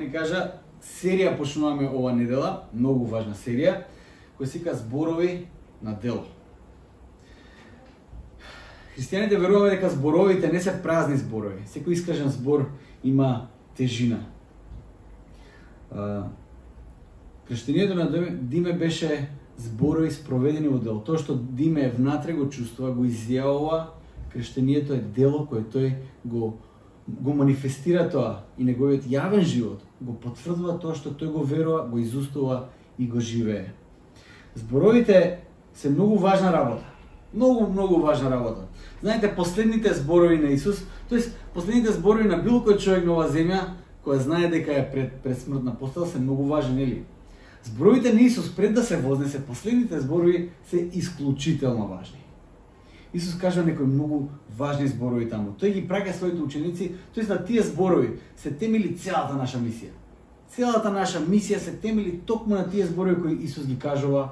ви кажа, серија почнуваме ова недела, многу важна серија, која се вика зборови на дело. Христијаните веруваме дека зборовите не се празни зборови. Секој искажен збор има тежина. Крштението на Диме беше зборови спроведени во дело. Тоа што Диме внатре го чувствува, го изјавува, крштението е дело кое тој го манифестира тоа и неговиот јавен живот го потврдува тоа што тој го верува, го изустува и го живее. Зборовите се многу важна работа. Многу важна работа. Знаете, последните зборови на Исус, тоест последните зборови на било кој човек на оваа земја, која знае дека е пред смртна постела, се многу важни, нели? Зборовите на Исус пред да се вознесе, последните зборови се исклучително важни. Исус кажа некои многу важни зборови таму. Тој ги праќа своите ученици, тоест на тие зборови се темели целата наша мисија. Целата наша мисија се темели токму на тие зборови кои Исус ги кажува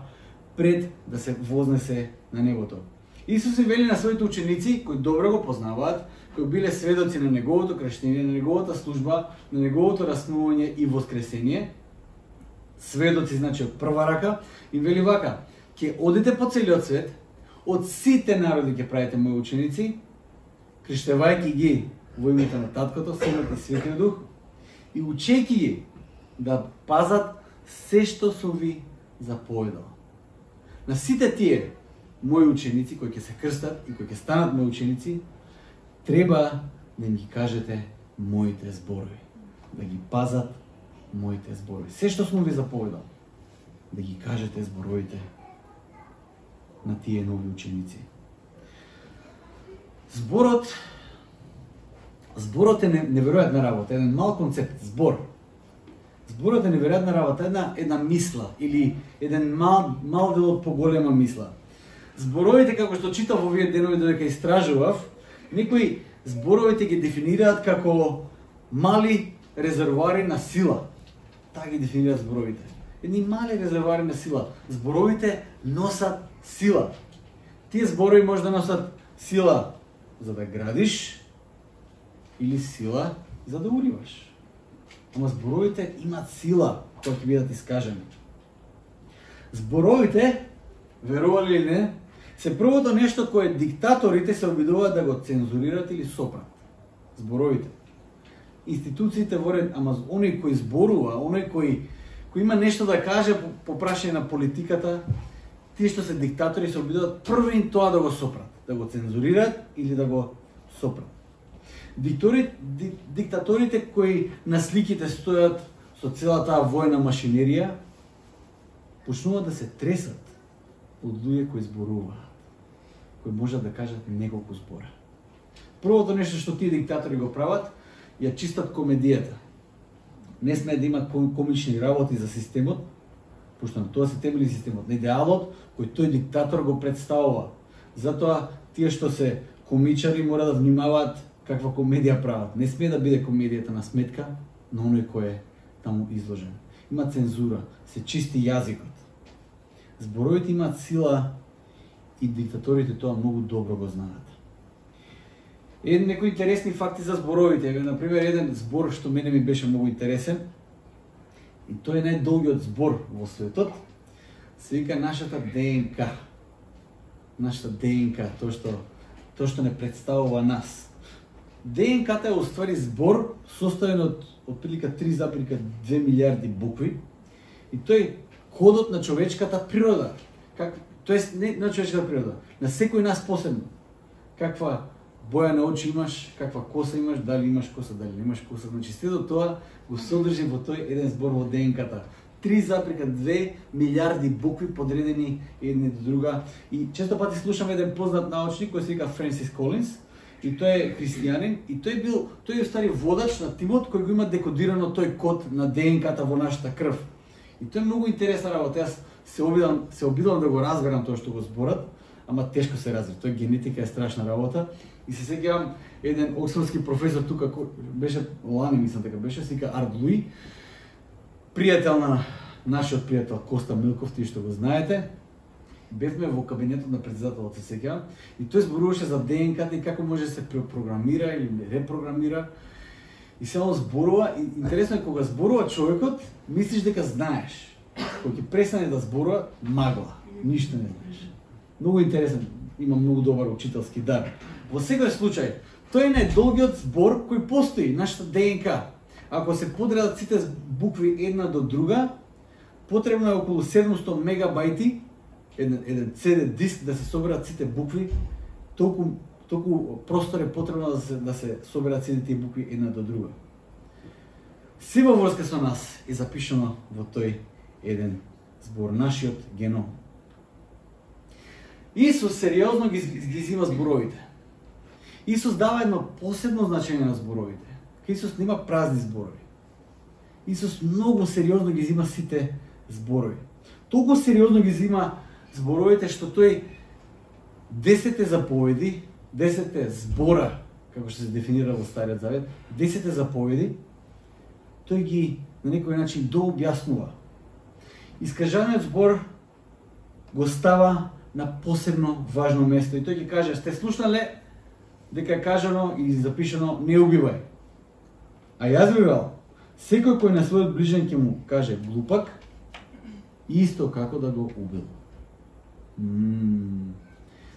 пред да се вознесе на небото. Исус им вели на своите ученици, кои добро го познаваат, кои биле сведоци на неговото крштење, на неговата служба, на неговото раснување и воскресение, сведоци, значи од прва рака, им вели вака: ќе одите по целиот свет, од сите народи ќе правите мои ученици, крштевајќи ги во името на Таткото, Синот и Светиот Дух, и учејќи ги да пазат се што сум ви заповедал. На сите тие мои ученици кои ќе се крстат и кои ќе станат мои ученици, треба да им ги кажете моите зборови, да ги пазат моите зборови. Се што сум ви заповедал, да ги кажете зборовите на тие нови ученици. Зборот е неверојатна работа, еден мал концепт, збор. Зборот е неверојатна работа, една мисла или еден мал дел од поголема мисла. Зборовите, како што читав овие денови додека истражував, некои зборовите ги дефинираат како мали резервоари на сила. Така ги дефинираат зборовите. Едни мали резервоари на сила. Зборовите носат сила. Тие зборови може да носат сила за да градиш или сила за да уриваш. Ама зборовите имаат сила кога ќе бидат искажани. Зборовите, верували или не, се првото нешто кое диктаторите се обидуваат да го цензурират или сопрат. Зборовите. Институциите во ред, ама оној кој зборува, оној кој има нешто да каже по прашање на политиката, тие што се диктатори се обидуваат први тоа да го сопрат, да го цензурират или да го сопрат. Диктаторите кои на сликите стојат со цела таа војна машинерија, почнуваат да се тресат од луѓе кои зборуваат, кои можат да кажат неколку збора. Првото нешто што тие диктатори го прават, ја чистат комедијата. Не смеат да имат комични работи за системот, пошто на тоа се темели системот, на идеалот кој тој диктатор го представува. Затоа тие што се комичари мора да внимаваат каква комедија прават. Не смее да биде комедијата на сметка на оној кој е таму изложен. Има цензура, се чисти јазикот. Зборовите имаат сила и диктаторите тоа многу добро го знаат. Некои интересни факти за зборовите. Например, еден збор што мене ми беше многу интересен, и тој е најдолгиот збор во светот, се вика нашата ДНК. Нашата ДНК, тоа што не представува нас. ДНК-та е уствари збор составен од отприлика 3,2 милиарди букви, и тој кодот на човечката природа. Тоест не на човечката природа, на секој нас посебно. Каква боја на очи имаш, каква коса имаш, дали имаш коса, дали немаш коса. Значи сето тоа го содржи во тој еден збор во ДНК-та. 3,2 милиарди букви подредени една до друга. И често пати слушам еден познат научник кој се вика Френсис Колинс, и тој е христијанин, и тој е стари водач на тимот кој го има декодирано тој код на ДНК-та во нашата крв. И тоа е многу интересна работа. Јас се обидам да го разберам тоа што го зборат, ама тешко се разбира. Тоа генетика е страшна работа. И се сеќавам еден оксфордски професор тука, беше лани, мислам така беше, се вика Арт Луи, пријател на нашиот пријател Коста Милков, тие што го знаете. Бевме во кабинетот на претседателот, се сеќавам, и тој зборуваше за ДНК-та и како може да се препрограмира или репрограмира. И само зборува, и интересно е кога зборува човекот, мислиш дека знаеш. Кога ќе престане да зборува, магла, ништо не знаеш. Многу интересен, има многу добар учителски дар. Во секој случај, тој е најдолгиот збор кој постои, нашата ДНК. Ако се подредат сите букви една до друга, потребно е околу 700 мегабајти, еден CD диск да се соберат сите букви, толку простор е потребно да се соберат сите тие букви една до друга. Се во врска со нас е запишано во тој еден збор, нашиот геном. Исус сериозно ги зима зборовите. Исус дава едно посебно значење на зборовите. Исус нема празни зборови. Исус многу сериозно ги зима сите зборови. Толку сериозно ги зима зборовите што тој 10 заповеди, 10 збора, како што се дефинира во Стариот Завет, 10 заповеди, тој ги на некој начин дообјаснува. Искажаниот збор го става на посебно важно место и тој ќе каже: сте слушнале дека е кажано и запишано не убивај. А јас ви велам, секој кој на својот ближен ќе му каже глупак, исто како да го убил.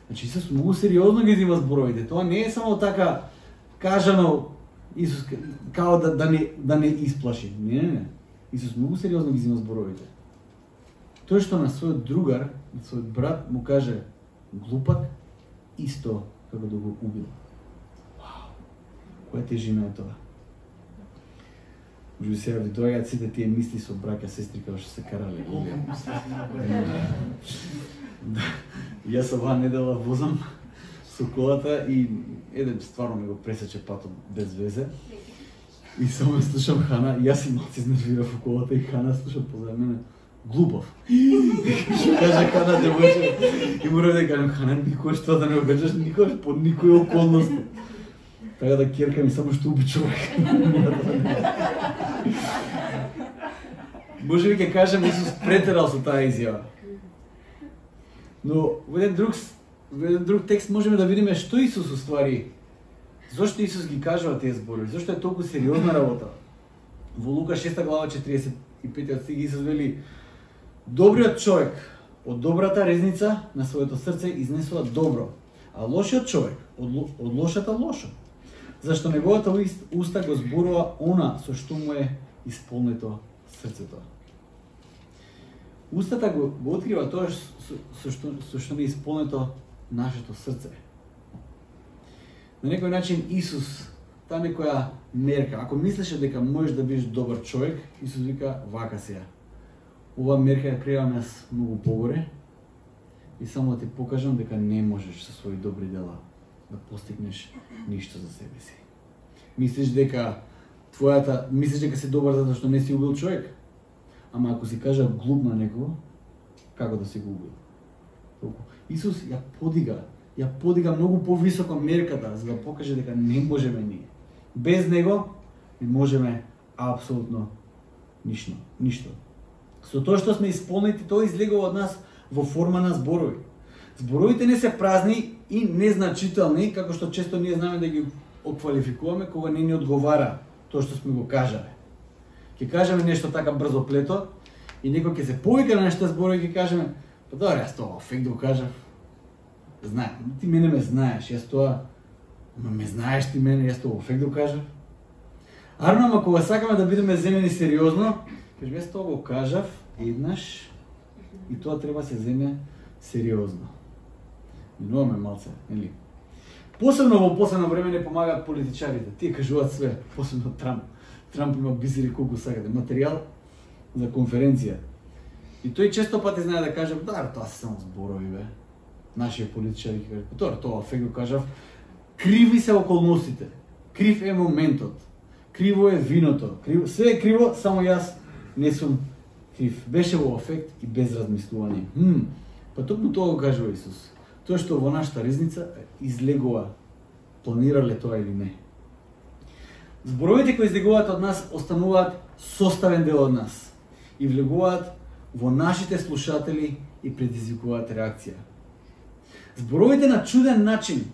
Значи Исус многу сериозно ги зима зборовите. Тоа не е само така кажано Исус као да не исплаши. Не. Исус многу сериозно ги зима зборовите. Тој што на својот другар, на својот брат му каже глупак, исто како да го убил. Вау! Која тежина е тоа? Може би сега ви доаѓаат сите тие мисли со браќа, сестри како што се карале. Јас оваа недела возам со колата и еден стварно ме го пресече патот без везе. И само слушам Хана, и јас си малци изнервирав во колата и Хана слуша позади мене глупав. Што каже Хана девојче? И мора да кажам: Хана, никогаш тоа да не го кажеш, никогаш под никој околност. Така да керкам и само што уби човек. Може би ќе кажем Исус претерал со таа изјава. Но во еден друг текст можеме да видиме што Исус уствари. Зошто Исус ги кажува тие зборови? Зошто е толку сериозна работа? Во Лука 6 глава 45 стих Исус вели: добриот човек од добрата резница на своето срце изнесува добро, а лошиот човек од лошата лошо. Зашто неговата уста го зборува она со што му е исполнето срцето. Устата го открива тоа со што не е исполнето нашето срце. На некој начин Исус, таа некоја мерка, ако мислеше дека можеш да бидеш добар човек, Исус вика: вака сега. Ова мерка ја креирам јас многу погоре и само да ти покажам дека не можеш со своји добри дела да постигнеш ништо за себе си. Мислиш дека си добар затоа што не си убил човек? Ама ако си кажа глуп на некого, како да си го убил? Толку. Исус ја подига многу повисоко мерката, за да покаже дека не можеме ние. Без него не можеме апсолутно ништо. Со тоа што сме исполнети, тоа излегува од нас во форма на зборови. Зборовите не се празни и незначителни, како што често ние знаме да ги оквалификуваме кога не ни одговара тоа што сме го кажале. Ќе кажеме нешто така брзоплето и некој ќе се повика на нашите зборови и ќе кажеме: па добре, јас тоа фек го кажав. Знаем, ти мене ме знаеш, јас тоа ме знаеш ти мене, јас тоа фек го кажав. Ама кога сакаме да бидеме земени сериозно, кажем јас тоа го кажав еднаш и тоа треба се земе сериозно. Минуваме малце, нели? Посебно во последно време не помагаат политичарите. Тие кажуваат све, посебно Трамп. Трамп има бизери колку сакате, материјал за конференција. И тој често пати знае да каже: да, тоа се само зборови, бе. Нашите политичари ќе кажат: тоа фек го кажав. Криви се околностите. Крив е моментот. Криво е виното. Све е криво, само јас не сум крив. Беше во ефект и без размислување. Па токму тоа го кажува Исус. Тоа што во нашата ризница излегува, планирале тоа или не. Зборовите кои излегуваат од нас остануваат составен дел од нас и влегуваат во нашите слушатели и предизвикуваат реакција. Зборовите на чуден начин,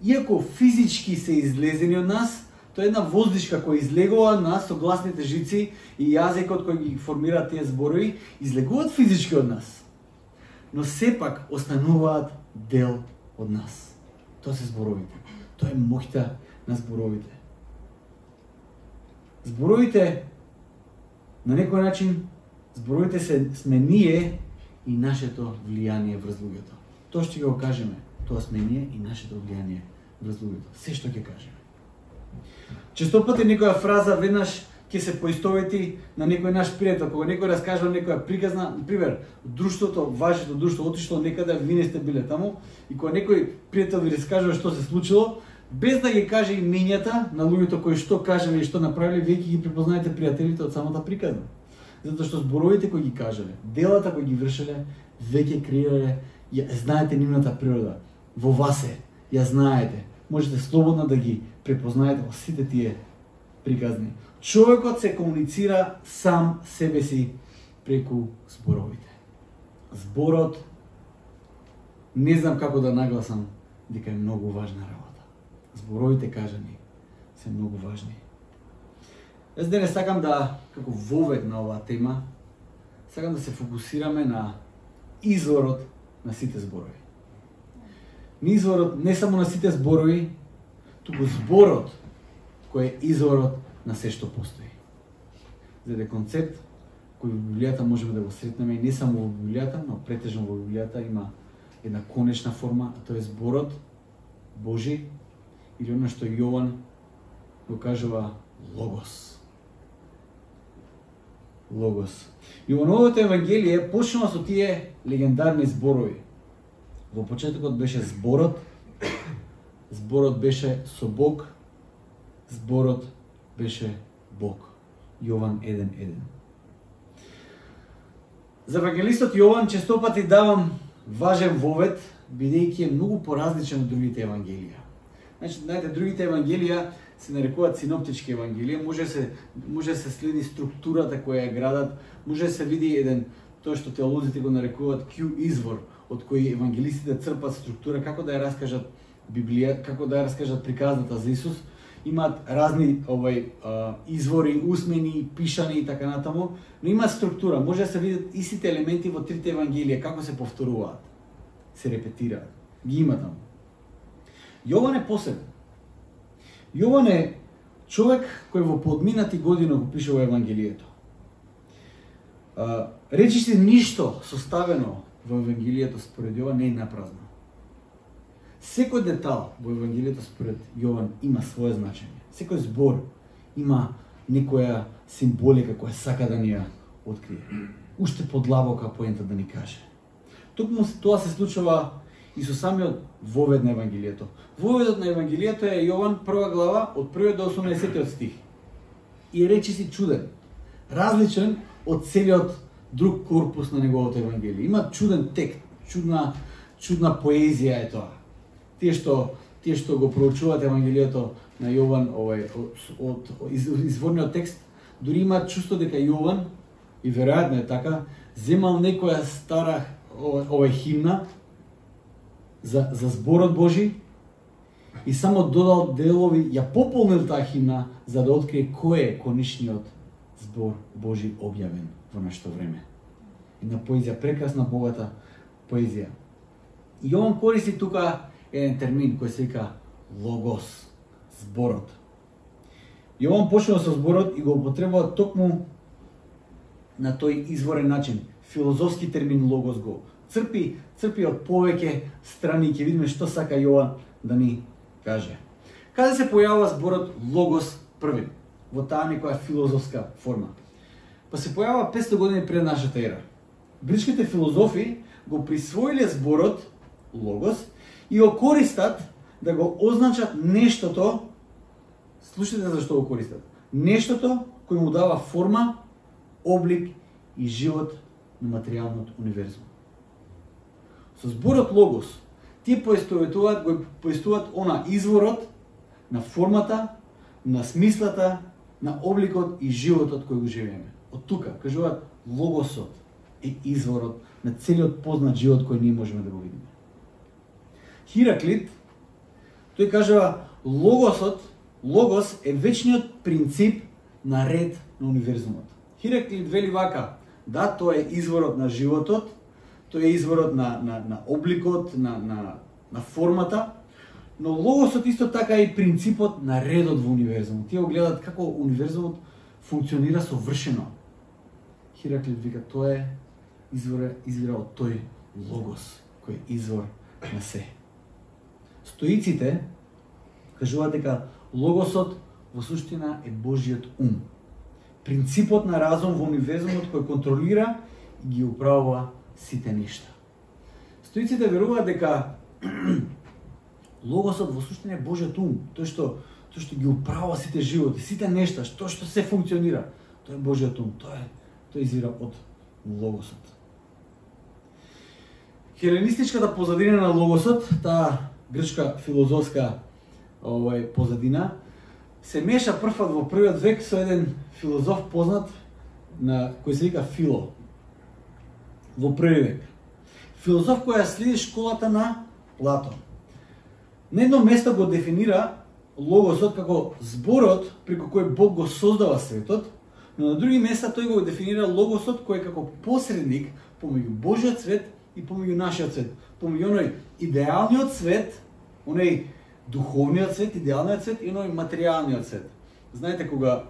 иако физички се излезени од нас, Тоа е една воздишка која излегува на согласните жици и јазикот кој ги формира тие зборови, излегуваат физички од нас. Но сепак остануваат дел од нас. Тоа се зборовите. Тоа е моќта на зборовите. Зборовите, на некој начин, зборовите сме ние и нашето влијание врз луѓето. Тоа што ќе го кажеме, тоа сме ние и нашето влијание врз луѓето. Се што ќе кажеме. Често пати некоја фраза веднаш ќе се поистовети на некој наш пријател, кога некој раскажува некоја приказна, например, друштвото, вашето друштво отишло некаде, вие не сте биле таму, и кога некој пријател ви раскажува што се случило, без да ги каже имињата на луѓето кои што кажале и што направиле, вие ќе ги препознаете пријателите од самата приказна. Затоа што зборовите кои ги кажале, делата кои ги вршеле, веќе креирале, знаете нивната природа. Во вас е, ја знаете. Можете слободно да ги препознаете во сите тие приказни. Човекот се комуницира сам себе си преку зборовите. Зборот, не знам како да нагласам, дека е многу важна работа. Зборовите кажани се многу важни. Јас денес сакам да, како вовед на оваа тема, сакам да се фокусираме на изворот на сите зборови. Не изворот не само на сите зборови, туку зборот кој е изворот на се што постои. За да концепт кој во Библијата можеме да го сретнеме и не само во Библијата, но претежно во Библијата има една конечна форма, а тоа е зборот Божи, или она што Јован го кажува Логос. Логос. Јовановото евангелие почнува со тие легендарни зборови. Во почетокот беше зборот, зборот беше со Бог, зборот беше Бог. Јован 1:1. За евангелистот Јован честопати давам важен вовед, бидејќи е многу поразличен од другите евангелија. Значи, знаете, другите евангелија се нарекуваат синоптички евангелија, може се следи структурата која ја градат, може да се види еден, тоа што теолозите го нарекуваат Q извор, од кој евангелистите црпат структура, како да ја раскажат Библија, како да ја раскажат приказната за Исус. Имаат разни извори, усмени, пишани и така натаму, но има структура. Може да се видат истите елементи во трите евангелија, како се повторуваат, се репетираат. Ги има таму. Јован е посебен. Јован е човек кој во подминати година го пишува евангелието. Речиси ништо составено во евангелието според Јован не е напразно. Секој детал во евангелието според Јован има свое значење. Секој збор има некоја символика која сака да ни ја открие. Уште подлабока поента да ни каже. Токму тоа се случува и со самиот вовед на евангелието. Воведот на евангелието е Јован 1 глава од 1 до 18 стих. И речиси чуден, различен од целиот друг корпус на неговото евангелие. Има чуден текст, чудна поезија е тоа. Тие што го проучуваат евангелието на Јован од изворниот текст, дури имаат чувство дека Јован, и веројатно е така, земал некоја стара химна за зборот Божи и само додал делови, ја пополнил таа химна за да открие кој е конечниот збор Божи објавен во нашето време. Една поезија, прекрасна, богата поезија. И Јован користи тука еден термин кој се вика логос, зборот. Јован почнува со зборот и го употребува токму на тој изворен начин. Филозофски термин логос го црпи од повеќе страни, ќе видиме што сака Јован да ни каже. Каде се појавува зборот логос први? Во таа некоја филозофска форма. Па се појавува 500 години пред нашата ера. Грчките филозофи го присвоиле зборот логос и го користат да го означат нештото. Слушайте зашто го користат. Нештото кој му дава форма, облик и живот на материјалниот универзум. Со зборот логос тие поистоветуваат она изворот на формата, на смислата, на обликот и животот кој го живееме. Од тука кажуваат логосот е изворот на целиот познат живот кој ние можеме да го видиме. Хираклит, тој кажува логосот Логос е вечниот принцип на ред на универзумот. Хераклит вели вака: да, тоа е изворот на животот, тоа е изворот на обликот, на формата, но логосот исто така е и принципот на редот во универзумот. Тие го гледат како универзумот функционира совршено. Хераклит вика тоа е извира од тој логос, кој е извор на се. Стоиците кажуваат дека логосот во суштина е Божиот ум. Принципот на разум во универзумот кој контролира и ги управува сите нешта. Стоиците веруваат дека логосот во суштина е Божиот ум, тоа што ги управува сите животи, сите нешта, што се функционира. Тоа е Божиот ум, тоа извира од логосот. Хеленистичката позадина на логосот, таа грчка филозофска позадина, се меша првпат во првиот век со еден филозоф познат кој се вика Фило. Во први век. Филозоф кој ја следи школата на Платон. На едно место го дефинира логосот како зборот преку кој Бог го создава светот, но на други места тој го дефинира логосот кој е како посредник помеѓу Божиот свет и помеѓу нашиот свет, помеѓу оној идеалниот свет, оној духовниот свет, идеалниот свет и оној материјалниот свет. Знаете кога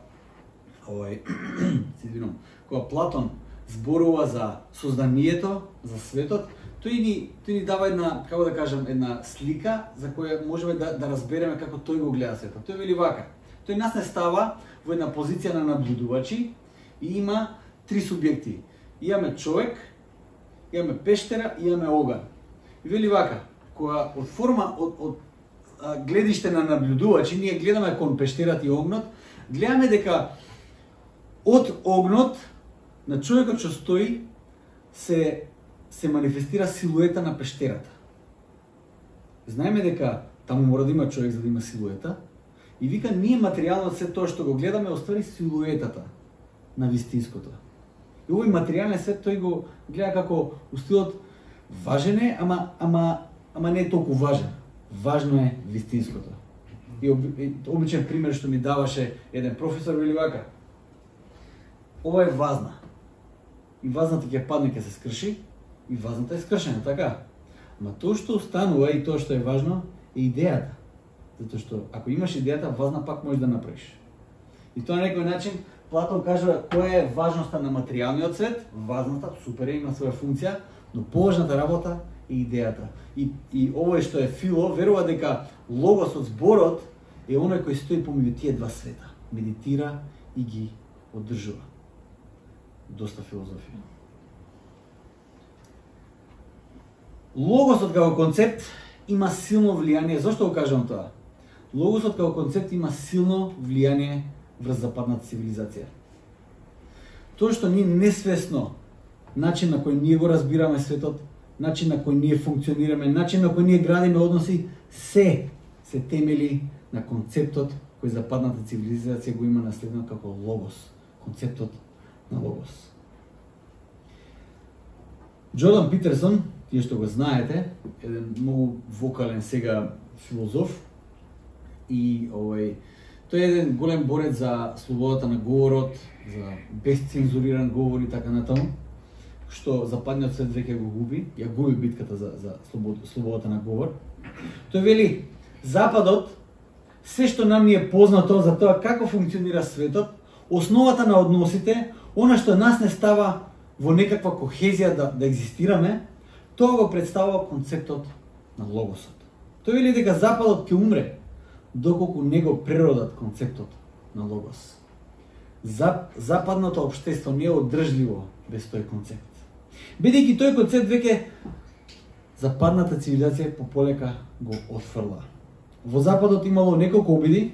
кога Платон зборува за созданието, за светот, тој ни дава една, како да кажам, една слика за која можеме да разбереме како тој го гледа светот. Тој вели вака: тој нас не става во една позиција на наблюдувачи и има три субјекти. Имаме човек, имаме пештера и имаме оган. И вели вака: која од форма од гледиште на наблюдувачи, ние гледаме кон пештерат и огнот, гледаме дека од огнот на човекот што стои се манифестира силуета на пештерата. Знаеме дека таму мора да има човек за да има силуета, и вика ние материјалното свет тоа што го гледаме оствари силуетата на вистинското. И овој материјален свет тој го гледа како устилот важен е, ама не е толку важен. Важно е вистинското. И обичен пример што ми даваше еден професор вели вака: ова е вазна. И вазната ќе падне, ќе се скрши, и вазната е скршена, така? Ама тоа што останува и тоа што е важно е идејата. Затоа што ако имаш идејата, вазна пак можеш да направиш. И тоа на некој начин Платон кажува која е важноста на материјалниот свет, вазната супер има своја функција, но поважната работа е идејата. И овој што е Фило верува дека логосот, зборот е оној кој стои помеѓу тие два света, медитира и ги одржува. Доста филозофија. Логосот како концепт има силно влијание. Зошто го кажам тоа? Логосот како концепт има силно влијание врз западната цивилизација. Тоа што ние несвесно, начин на кој ние го разбираме светот, начин на кој ние функционираме, начин на кој ние градиме односи, се темели на концептот кој западната цивилизација го има наследено како логос, концептот на логос. Джордан Питерсон, тие што го знаете, еден многу вокален сега филозоф, и тој е еден голем борец за слободата на говорот, за безцензуриран говор и така натаму, што западниот свет веќе го губи, ја губи битката за слободата на говор. Тој вели: Западот, се што нам ни е познато за тоа како функционира светот, основата на односите, она што нас не става во некаква кохезија да екзистираме, тоа го представува концептот на логосот. Тој вели дека Западот ќе умре доколку не го преродат концептот на логос. Западното општество не е одржливо без тој концепт. Бидејќи тој концепт веќе западната цивилизација пополека го отфрла. Во Западот имало неколку обиди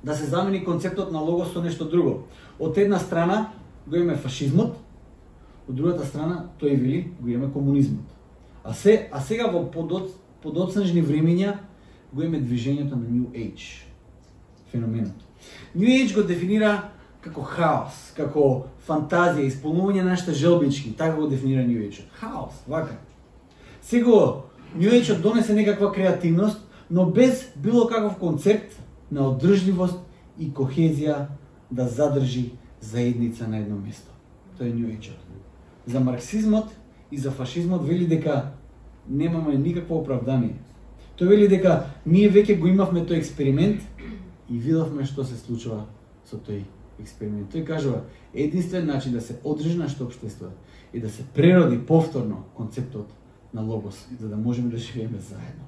да се замени концептот на логос со нешто друго. Од една страна го имаме фашизмот, од другата страна тој вели го имаме комунизмот. А сега во подоцнежни времења го имаме движењето на New Age, феноменот. New Age го дефинира како хаос, како фантазија, исполнување на нашите желбички, така го дефинира New Age. Хаос, вака. Сега New Age донесе некаква креативност, но без било каков концепт на одржливост и кохезија да задржи заедница на едно место. Тоа е New Age-от. За марксизмот и за фашизмот вели дека немаме никакво оправдание. Тој вели дека ние веќе го имавме тој експеримент и видовме што се случува со тој експеримент. Тој кажува, единствен начин да се одржи нашето општество и да се прероди повторно концептот на логос, за да можеме да живееме заедно.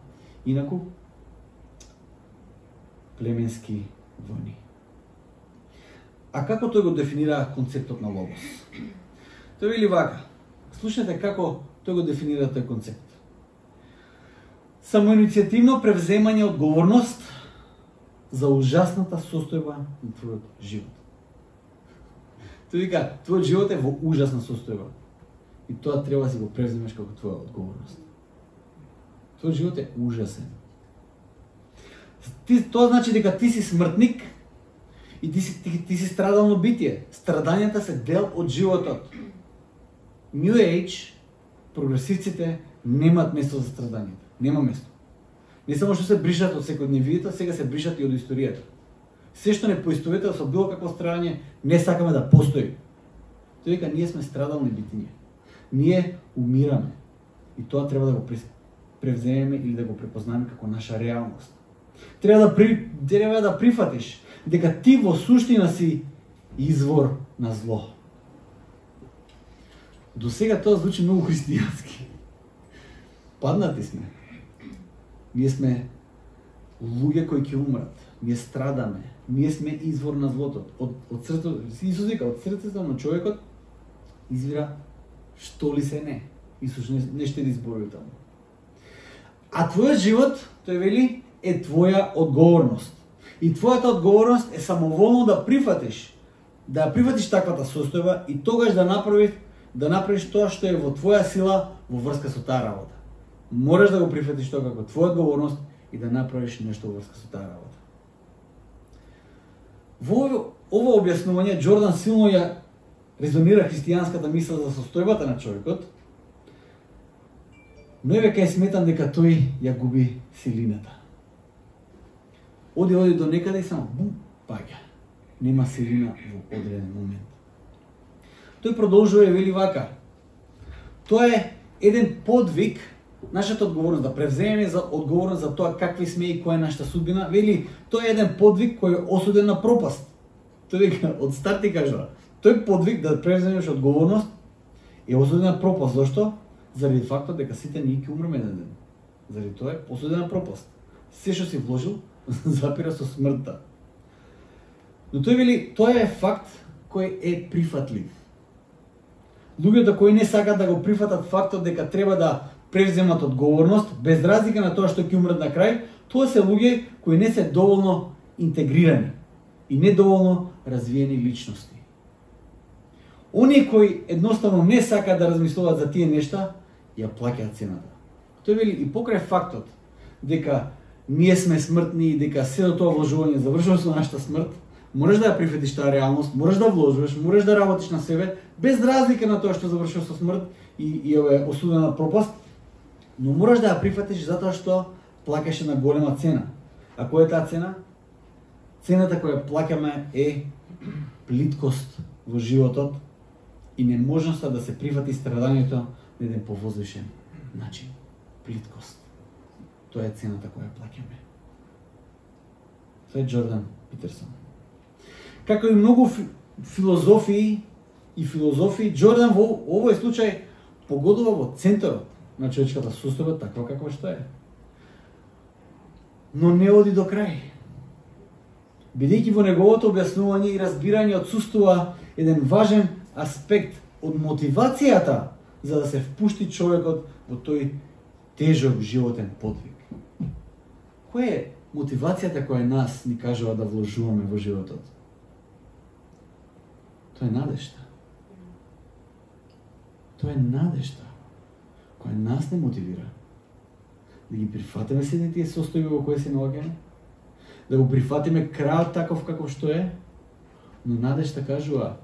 Инаку, племенски војни. А како тој го дефинира концептот на логос? Тој вели вака, слушнете како тој го дефинира тој концепт. Самоиницијативно превземање одговорност за ужасната состојба на твојот живот. Тој вика, твојот живот е во ужасна состојба. И тоа треба да си го превземеш како твоја одговорност. Твојот живот е ужасен. Тоа значи дека ти си смртник и ти си страдално битие. Страдањата се дел од животот. New Age, прогресивците немаат место за страдањата. Нема место. Не само што се бришат од секојдневието, сега се бришат и од историјата. Се што не поистоветува со било какво страдање, не сакаме да постои. Тој вика, ние сме страдални битиња. Ние умираме. И тоа треба да го превземеме или да го препознаеме како наша реалност. Треба да прифатиш дека ти во суштина си извор на зло. До сега тоа звучи многу христијански. Паднати сме. Ние сме луѓе кои ќе умрат. Ние страдаме. Ние сме извор на злото. Од срцето, Исус вика, од срцето на човекот извира што ли се не. Исус не штеди зборови таму. А твојот живот, тој вели, е твоја одговорност. И твојата одговорност е самоволно да прифатиш таквата состојба и тогаш да направиш тоа што е во твоја сила во врска со таа работа. Мораш да го прифатиш тоа како твоја одговорност и да направиш нешто во врска со таа работа. Во ова објаснување Џордан силно ја резонира христијанската мисла за состојбата на човекот, но веќе сметам дека тој ја губи силината. Оди до некаде и само бум, паѓа. Нема силина во одреден момент. Тој продолжува и вели вака. Тоа е еден подвиг, нашата одговорност, да превземеме за одговорност за тоа какви сме и која е нашата судбина. Вели, тоа е еден подвиг кој е осуден на пропаст. Тој вика, од старт ти кажува, тој подвиг да превземеш одговорност е осуден на пропаст. Зошто? Заради фактот дека сите ние ќе умреме еден ден. Заради тоа е осуден на пропаст. Се што си вложил, запира со смртта. Но тој вели, тоа е факт кој е прифатлив. Луѓето кои не сакаат да го прифатат фактот дека треба да превземат одговорност, без разлика на тоа што ќе умрат на крај, тоа се луѓе кои не се доволно интегрирани и недоволно развиени личности. Оние кои едноставно не сакаат да размислуваат за тие нешта, ја плаќаат цената. Тој вели и покрај фактот дека ние сме смртни и дека сето тоа вложување завршува со нашата смрт, можеш да ја прифатиш таа реалност, можеш да вложуваш, можеш да работиш на себе, без разлика на тоа што завршува со смрт и е осудена на пропаст, но можеш да ја прифатиш затоа што плаќаш на голема цена. А која е таа цена? Цената која плаќаме е плиткост во животот и неможноста да се прифати страдањето на еден повозвишен начин. Плиткост. Тоа е цената која плаќаме. Тоа е Џордан Питерсон. Како и многу филозофии, Џордан во овој случај погодува во центарот на човечката состојба таква каква што е. Но не оди до крај. Бидејќи во неговото објаснување и разбирање отсуствува еден важен аспект од мотивацијата за да се впушти човекот во тој тежок животен подвиг. Која е мотивацијата која нас ни кажува да вложуваме во животот? Тоа е надежта. Тоа е надежта која нас не мотивира да ги прифатиме сите тие состојби во кои се наоѓаме, да го прифатиме крајот таков каков што е, но надежта кажува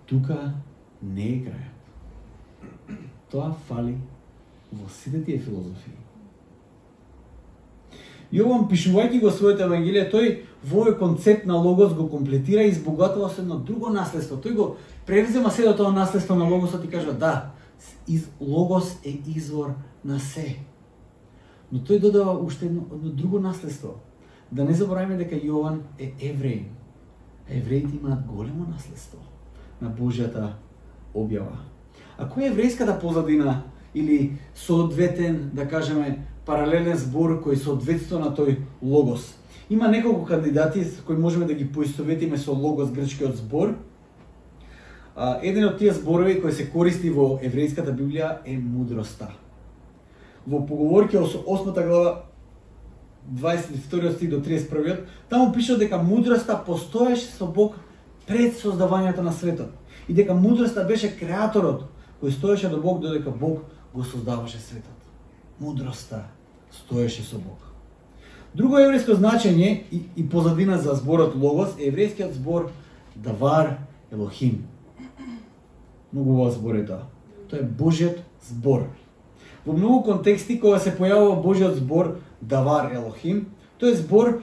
тука не е крајот. Тоа фали во сите тие филозофии. Јован, пишувајќи го своето евангелие, тој во овој концепт на логос го комплетира и избогатува со едно друго наследство. Тој го превзема се до тоа наследство на логосот и кажа да, логос е извор на се. Но тој додава уште едно друго наследство. Да не забораваме дека Јован е евреин. Евреите имаат големо наследство на Божјата објава. А која е еврејската позадина или соодветен, да кажеме, паралелен збор кој соодветства на тој логос? Има неколку кандидати кои можеме да ги поистоветиме со логос, грчкиот збор. Еден од тие зборови кои се користи во еврејската Библија е мудроста. Во Поговорки 8 глава 22 стих до 31, таму пише дека мудроста постоеше со Бог пред создавањето на светот и дека мудроста беше креаторот кој стоеше до Бог додека Бог го создаваше светот. Мудроста стоеше со Бог. Друго еврејско значење и позадина за зборот логос е еврејскиот збор давар Елохим. Многу убав збор е тоа. Тоа е Божјиот збор. Во многу контексти кога се појавува Божјиот збор давар Елохим, тој е збор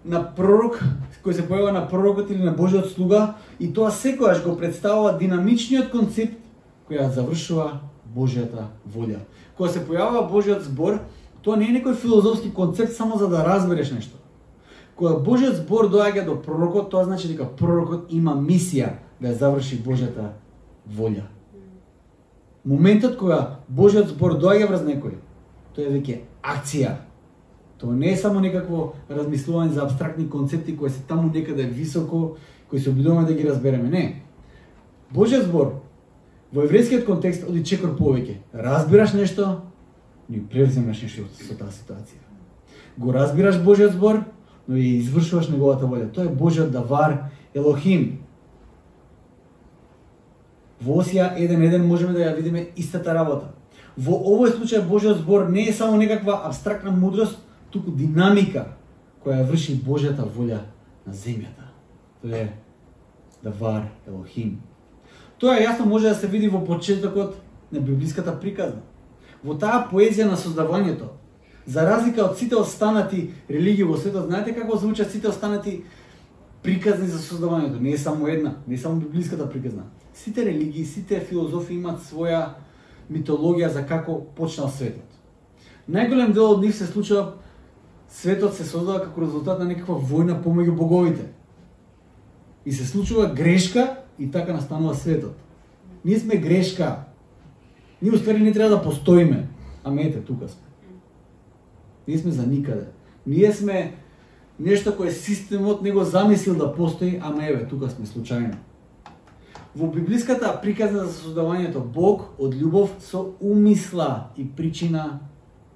на пророк, кој се појавува на пророкот или на Божјиот слуга, и тоа секогаш го представува динамичниот концепт кој ја завршува Божјата волја. Кога се појавува Божјиот збор, тоа не е некој филозофски концепт само за да разбереш нешто. Кога Божјиот збор доаѓа до пророкот, тоа значи дека пророкот има мисија да ја заврши Божјата волја. Моментот кога Божјиот збор доаѓа врз некој, тоа е веќе акција. Тоа не е само некакво размислување за абстрактни концепти кои се таму некаде високо, кои се обидуваме да ги разбереме. Не. Божјиот збор во еврејскиот контекст оди чекор повеќе. Разбираш нешто, ни превземаш нешто со таа ситуација. Го разбираш Божјиот збор, но и извршуваш неговата волја. Тоа е Божјиот давар Елохим. Во Осија 1.1 можеме да ја видиме истата работа. Во овој случај Божјиот збор не е само некаква абстрактна мудрост, туку динамика која врши Божјата волја на земјата. Тоа е давар Елохим. Тоа јасно може да се види во почетокот на библиската приказна. Во таа поезија на создавањето, за разлика од сите останати религии во светот, знаете како звучат сите останати приказни за создавањето? Не е само една, не е само библиската приказна. Сите религии, сите филозофи имаат своја митологија за како почнал светот. Најголем дел од нив се случува, светот се создава како резултат на некаква војна помеѓу боговите. И се случува грешка и така настанува светот. Ние сме грешка. Ние уствари не треба да постоиме. Ама ете, тука сме. Ние сме за никаде. Ние сме нешто кое системот не го замислил да постои, ама еве, тука сме случајно. Во библиската приказна за создавањето, Бог од љубов со умисла и причина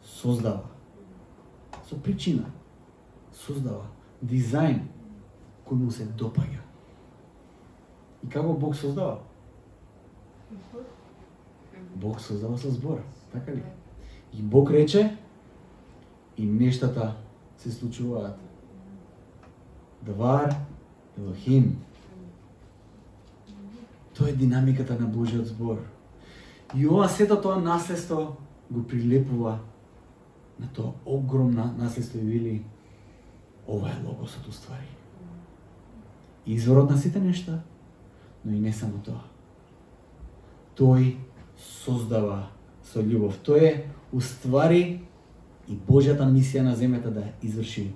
создава. Со причина создава дизајн кој му се допаѓа. И како Бог создава? Бог создава со збор, така ли? И Бог рече и нештата се случуваат. Давар Елохим. Тоа е динамиката на Божјиот збор. И ова сето тоа наследство го прилепува на тоа огромна наследство и вели ова е логосот уствари. Изворот на сите нешта, но и не само тоа. Тој создава со љубов. Тој е уствари и Божјата мисија на земјата да ја изврши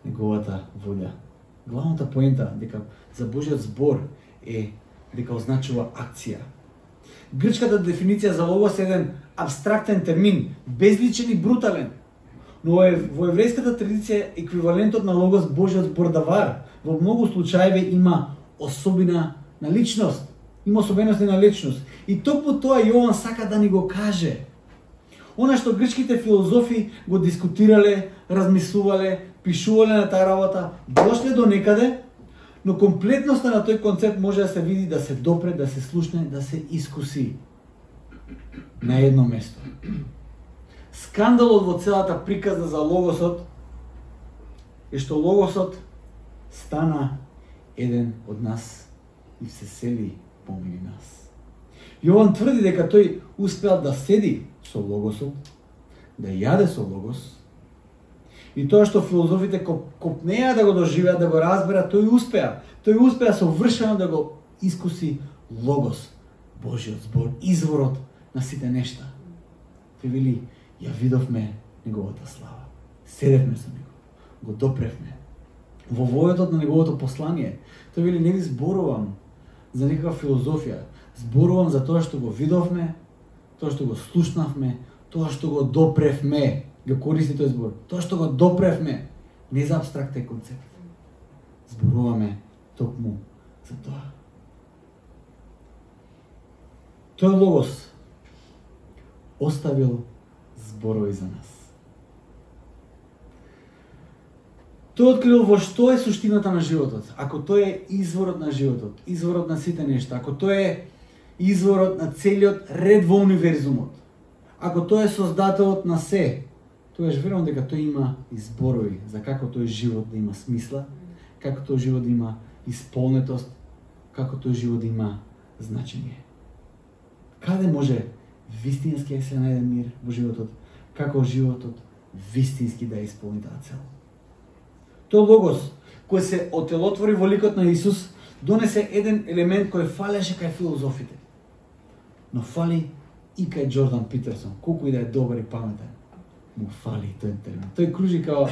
неговата волја. Главната поента дека за Божјиот збор е дека означува акција. Грчката дефиниција за логос е еден абстрактен термин, безличен и брутален. Но во еврејската традиција еквивалентот на логос Божјиот збор давар во многу случаи има особина на личност, има особеност на личност. И токму тоа Јован сака да ни го каже. Она што грчките филозофи го дискутирале, размислувале, пишувале на таа работа, дошле до некаде, но комплетноста на тој концепт може да се види, да се допре, да се слушне, да се искуси на едно место. Скандалот во целата приказна за логосот е што логосот стана еден од нас и се сели помеѓу нас. Јован тврди дека тој успеал да седи со логосот, да јаде со логос И тоа што филозофите копнеа да го доживеат, да го разберат, тој успеа. Тој успеа совршено да го искуси Логос, Божиот збор, изворот на сите нешта. Тој вели, ја видовме неговата слава. Седевме со него, го допревме. Во војотот на неговото послание, тој вели, не ви зборувам за некаква филозофија, зборувам за тоа што го видовме, тоа што го слушнавме, тоа што го допревме. Го користи тој збор. Тоа што го допревме, не за абстрактен концепт. Зборуваме токму за тоа. Тој Логос оставил зборови за нас. Тој открил во што е суштината на животот. Ако тој е изворот на животот, изворот на сите нешта, ако тој е изворот на целиот ред во универзумот, ако тој е создателот на се, тогаш верувам дека тој има изборови за како тој живот да има смисла, како тој живот да има исполнетост, како тој живот да има значење. Каде може вистински да се најде мир во животот, како животот вистински да исполни таа цел. Тој Логос, кој се отелотвори во ликот на Исус, донесе еден елемент кој фалеше кај филозофите. Но фали и кај Джордан Питерсон, колку и да е добар и паметен. Му фали тој термин. Тој кружи као,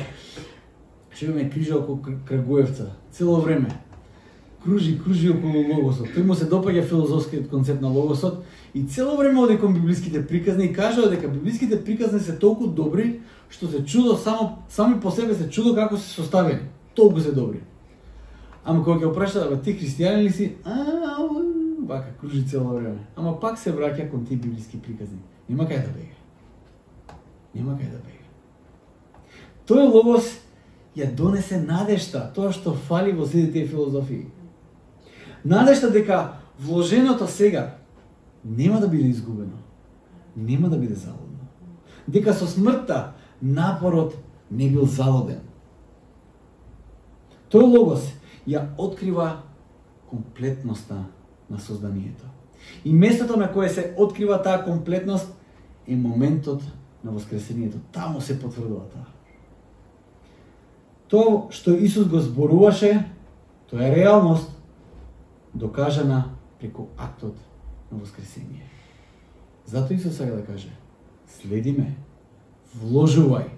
што ме кружи околу Крагуевца, цело време. Кружи околу Логосот. Тој му се допаѓа филозофскиот концепт на Логосот и цело време оди кон библиските приказни и кажува дека библиските приказни се толку добри што се чудо сами по себе се чудо како се составени. Толку се добри. Ама кога ќе опрашта, ти христијанин ли си? Вака кружи цело време. Ама пак се враќа кон тие библиски приказни. Нема кај да бега. Нема кај да бега. Тој Логос ја донесе надежта, тоа што фали во сите тие филозофии. Надежта дека вложеното сега нема да биде изгубено, нема да биде залудно. Дека со смртта напорот не бил залуден. Тој Логос ја открива комплетноста на созданието. И местото на кое се открива таа комплетност е моментот на воскресението. Таму се потврдува таа. Тоа што Исус го зборуваше, тоа е реалност, докажана преку актот на воскресение. Затоа Исус сега да каже, следи ме, вложувај,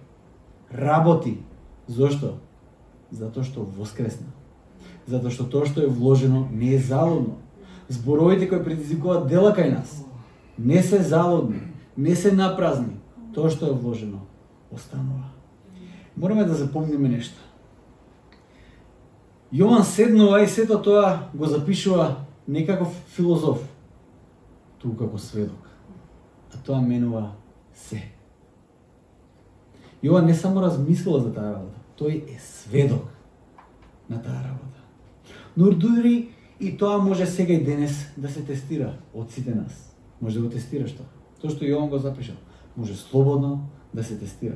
работи. Зошто? Затоа што воскресна. Затоа што тоа што е вложено не е залудно. Зборовите кои предизвикуваат дела кај нас не се залудни, не се напразни. Тоа што е вложено останува. Мораме да запомниме нешто. Јован седнува и сето тоа го запишува не како филозоф, туку како сведок. А тоа менува се. Јован не само размислува за таа работа, тој е сведок на таа работа. Но дури и тоа може сега и денес да се тестира од сите нас. Може да го тестираш тоа. Тоа што Јован го запишал, може слободно да се тестира.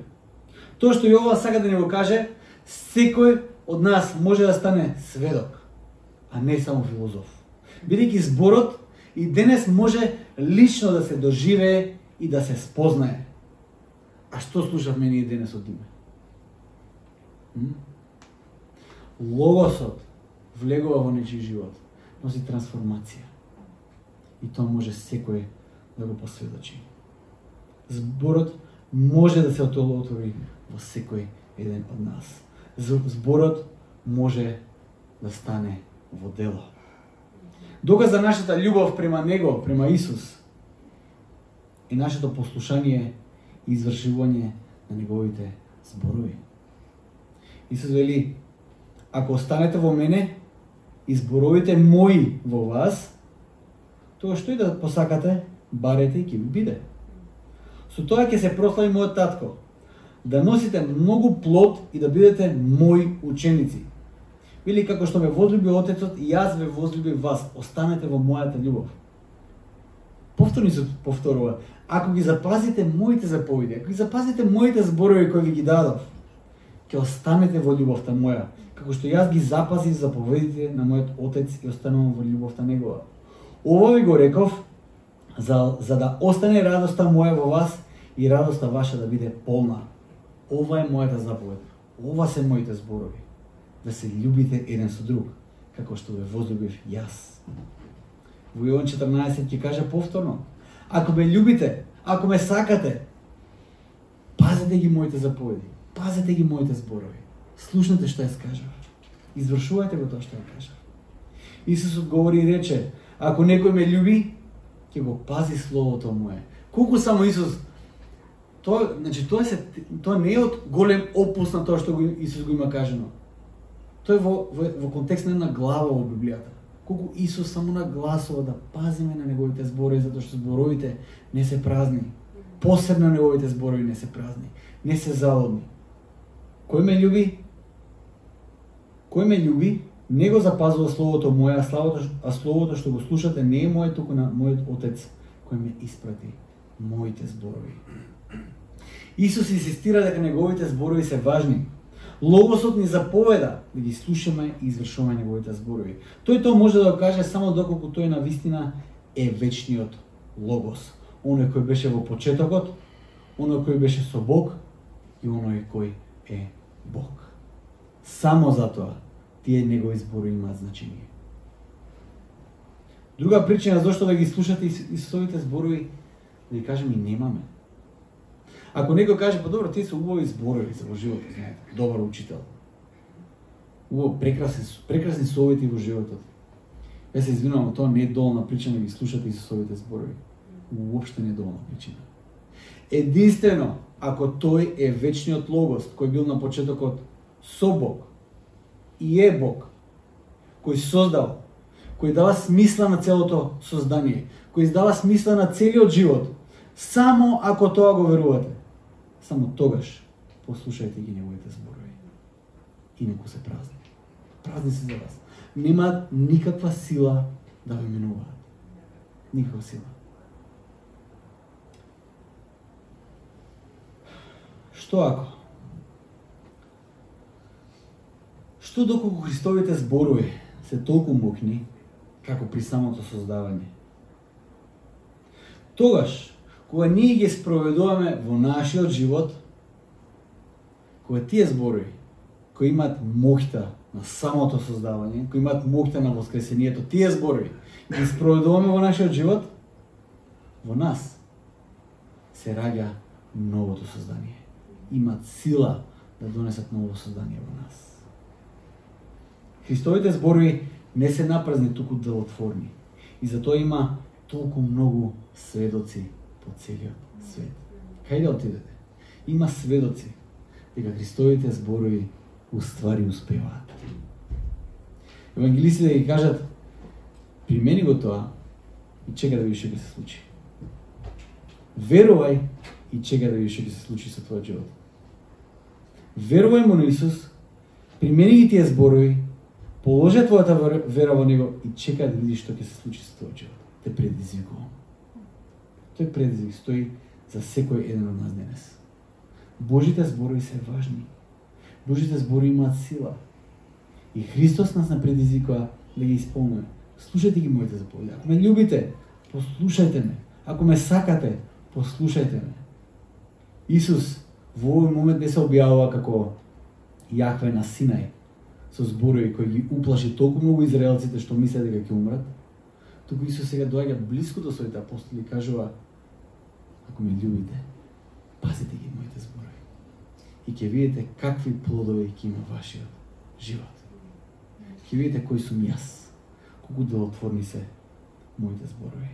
Тоа што Јован сака да ни го каже, секој од нас може да стане сведок, а не само филозоф. Бидејќи зборот и денес може лично да се доживее и да се спознае. А што слушавме ние денес од Диме? Логосот влегува во нечи живот, носи трансформација. И тоа може секој да го посведочи. Зборот може да се отвори во секој еден од нас. Зборот може да стане во дело. Доказ за нашата љубов према Него, према Исус, е нашето послушание и извршување на Неговите зборови. Исус вели, ако останете во мене и зборовите мои во вас, тоа што и да посакате, барете и ќе ви биде. Со тоа ќе се прослави мојот татко, да носите многу плод и да бидете мои ученици. Вели, како што ме возлюби Отецот, и јас ве возлюбив вас, останете во мојата љубов. Повторно се повторува, ако ги запазите моите заповеди, ако ги запазите моите зборови кои ви ги дадов, ќе останете во љубовта моја, како што јас ги запазив заповедите на мојот Отец и останувам во љубовта негова. Ова ви го реков, за да остане радоста моја во вас и радоста ваша да биде полна. Ова е мојата заповед. Ова се моите зборови, да се љубите еден со друг, како што ве возлюбив јас. Во Јован 14 ќе каже повторно: ако ме љубите, ако ме сакате, пазете ги моите заповеди, пазете ги моите зборови. Слушнете што ја скажав. Извршувајте го тоа што ја кажав. Исус одговори и рече: ако некој ме љуби, ќе го пази словото мое. Колку само Исус, тоа не е од голем опус на тоа што Исус го има кажано. Тоа е во контекст на една глава во Библијата. Колку Исус само нагласува да пазиме на неговите зборови, затоа што зборовите не се празни. Посебно неговите зборови не се празни, не се залудни. Кој ме љуби, не го запазува словото мое, а словото што го слушате не е мое, туку на мојот Отец кој ме испрати. Моите зборови. Исус инсистира дека неговите зборови се важни. Логосот ни заповеда да ги слушаме и извршуваме неговите зборови. Тој тоа може да го каже само доколку тој навистина е вечниот Логос. Оној кој беше во почетокот, оној кој беше со Бог и оној кој е Бог. Само затоа тие негови зборови имаат значење. Друга причина зашто да ги слушате Исусовите зборови, да ги кажем и немаме. Ако некој каже: па добро, тие се убави зборови за во животот, знаете, добар учител. Убаво, прекрасни совети во животот. Ја се извинувам, тоа не е доволна причина да ги слушате Исусовите зборови. Уопште не е доволна причина. Единствено, ако тој е вечниот Логос, кој бил на почетокот со Бог и е Бог, кој создал, кој дава смисла на целото создание, кој издава смисла на целиот живот, само ако тоа го верувате, само тогаш послушајте ги неговите зборови. Инаку се празни. Празни се за вас. Немаат никаква сила да ве менуваат. Никаква сила. Што ако? Што доколку Христовите зборови се толку мокни, како при самото создавање? Тогаш, кога ние ги спроведуваме во нашиот живот, кога тие зборови, кои имаат моќта на самото создавање, кои имаат моќта на воскресението, тие зборови, ги спроведуваме во нашиот живот, во нас се раѓа новото создание. Имаат сила да донесат ново создание во нас. Христовите зборови не се напразни, туку делотворни. И затоа има толку многу сведоци по целиот свет. Кај да отидете? Има сведоци дека Христовите зборови уствари успеваат. Евангелистите ги кажат: примени го тоа и чека да видиш што ќе се случи. Верувај и чека да видиш што ќе се случи со твојот живот. Верувај му на Исус, примени ги тие зборови, положи твојата вера во него и чека да видиш што ќе се случи со твојот живот. Те предизвикувам. Тој предизвик стои за секој еден од нас денес. Божите зборови се важни. Божите зборови имаат сила. И Христос нас предизвикува да ги исполнуваме. Слушајте ги моите заповеди. Ако ме љубите, послушајте ме. Ако ме сакате, послушајте ме. Исус во овој момент не се објавува како Јахве на Синај, со зборови кои ги уплаши толку многу израелците што мислеа дека ќе умрат. Туку Исус сега доаѓа блиску до своите апостоли и кажува: ако ме љубите, пазите ги моите зборови. И ќе видите какви плодови ќе има вашиот живот. Ќе видите кој сум јас, колку делотворни се моите зборови.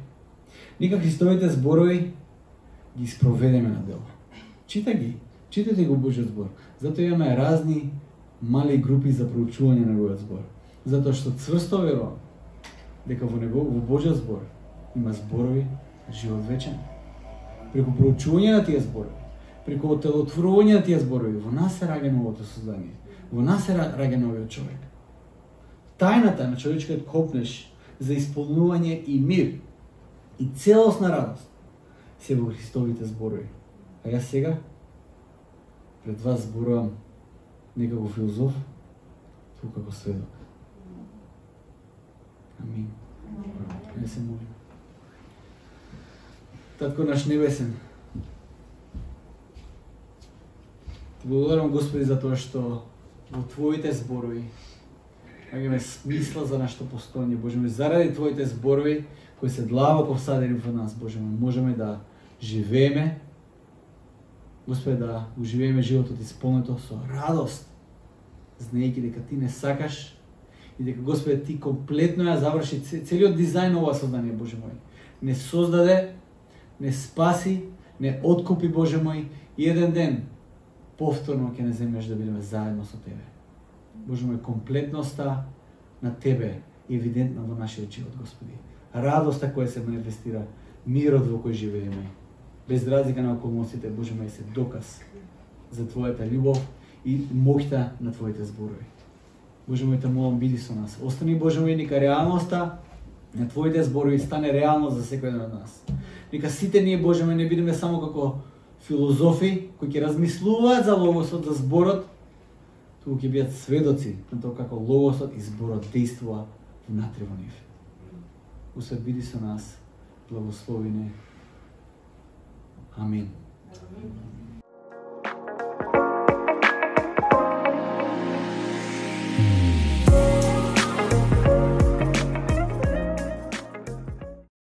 Нека Христовите зборови ги спроведеме на дело. Читајте го Божиот збор. Затоа имаме разни мали групи за проучување на неговиот збор. Затоа што цврсто верувам дека во Божиот збор има зборови живот вечен. Преку проучување на тие зборови, преку отелотворување на тие зборови, во нас се раѓа новото создание. Во нас се раѓа новиот човек. Тајната на човечкиот копнеш за исполнување и мир и целосна радост се во Христовите зборови. А јас сега пред вас зборувам не како филозоф, туку како сведок. Амин. Не се молим. Татко наш небесен, Ти благодарам, Господи, за тоа што во Твоите зборови имаме смисла за нашето постојање, Боже мој, заради Твоите зборови кои се длабоко всадени во нас, Боже мој, можеме да живееме, Господи, да уживееме животот исполнето со радост, знаејќи дека Ти не сакаш и дека, Господи, Ти комплетно ја заврши целиот дизајн ова создание, Боже мој. Не создаде, не спаси, не откупи, Боже мој, и еден ден повторно ќе не земеш да бидеме заедно со Тебе. Боже мој, комплетноста на Тебе е евидентна во нашиот живот, Господи. Радоста која се манифестира, мирот во кој живееме, без разлика на околностите, Боже мој, се доказ за Твојата љубов и моќта на Твоите зборови. Боже мој, те молам, биди со нас. Остани, Боже мој, нека реалноста на Твоите зборови стане реално за секој еден од нас. Нека сите ние, Боже мој, не бидеме само како филозофи кои ќе размислуваат за логосот, за зборот, туку ќе бидат сведоци на тоа како логосот и зборот действува внатре во нив. Господи, биди со нас, благослови не. Амин.